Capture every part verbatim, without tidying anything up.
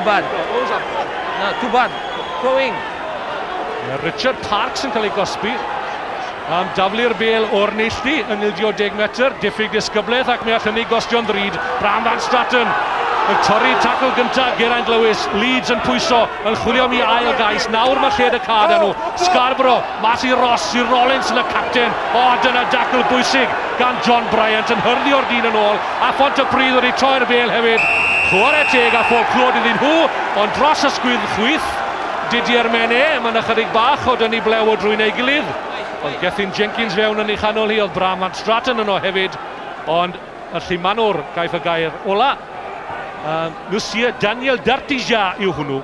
Too bad. No, too bad. Throwing. Richard Parks yn cael ei gosbi am daflu'r bel o'r neilltu yn ildio deg metr. Diffyg disgyblaeth ac mi all hynny gostio'n ddrud. Bram Van Straten yn torri tacl gyntaf Geraint Lewis. Leeds yn pwyso, yn chwilio am ei ail gais. Nawr mae lled y cad nhw. Scarborough, mas i Ross, i Rollins yn y capten. O, dyna dacl bwysig gan John Bryant yn hyrddio'r dyn yn ôl. A Phontypridd wedi troi'r bel hefyd. Chwarae teg a phob clod iddyn nhw, ond dros y sgwydd chwith Didier Mene, mae'n ychydig bach o dynnu blew o drwy'n ei gilydd. Oedd Gethin Jenkins fewn yn ei chanol hi, oedd Bram Van Straten yno hefyd, ond y llumanwr gaiff y gair ola. Um, Monsieur Daniel Dartija yw hwnnw.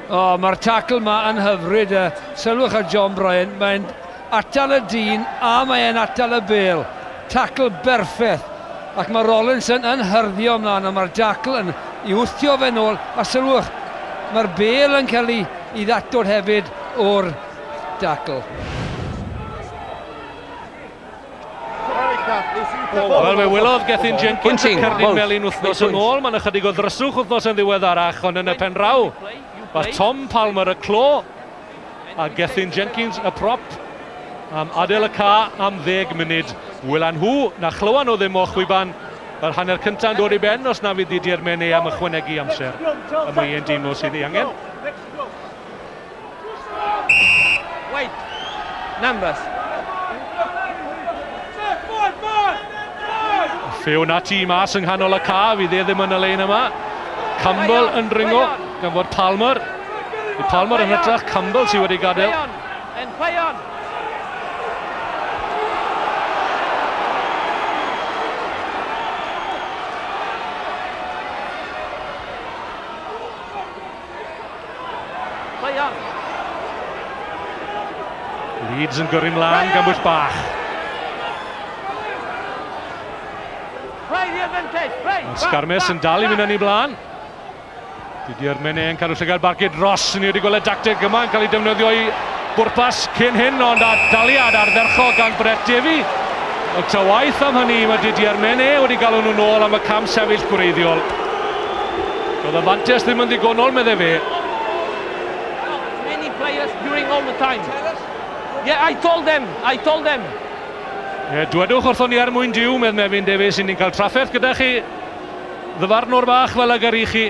O, oh, mae'r tacl yma yn hyfryd. Sylwch ar John Bryant, mae'n atal y dyn a mae'n atal y bel. Tacl berffaith. Ac mae Rollinson yn hyrddio ymlaen, a mae'r dacl yn i wthio fe nôl. A sylwch, mae'r bel yn cael ei, ei ddatod hefyd o'r dacl. Wel, fe welodd Gethin Jenkins y cerdyn melyn wythnos yn ôl. Mae'n ychydig o ddryswch wythnos yn ddiweddarach, ond yn y pen draw mae Tom Palmer y clo a Gethin Jenkins y prop am adael y ca am ddeg munud. Welan nhw, na chlywan nhw ddim o chwiban yr hanner cyntaf yn dod i ben os na fydd Didier Mene am ychwanegu amser y mae e'n deimlo sydd ei angen. Wait, numbers. Fewn ati mas yng nghanol y ca, fydd e ddim yn y lein yma. Campbell yn dringo, gan fod Palmer. Palmer yn hytrach, Campbell sydd wedi gadael. And play on. Play on. Leeds yn gyrru mlaen gan bwyll bach. Sgarmes yn dal i fynd yn ei blaen. Didier Mene yn cadw llygad barcud Ross. Ni wedi gweld y dacteg yma yn cael ei defnyddio i bwrpas cyn hyn, ond a daliad ardderchog gan Brett Davey. Ond ta waith am hynny, mae Didier Mene wedi galw nhw nôl am y cam sefyll gwreiddiol. Doedd y fantes ddim yn ddigonol, medde fe. Many players during all the time. Yeah, I told them, I told them. Ie, dwedwch wrthon ni er mwyn diw, medd Mefin Davies, ni'n cael trafferth gyda chi. Ddyfarnwr bach fel ag yr i chi.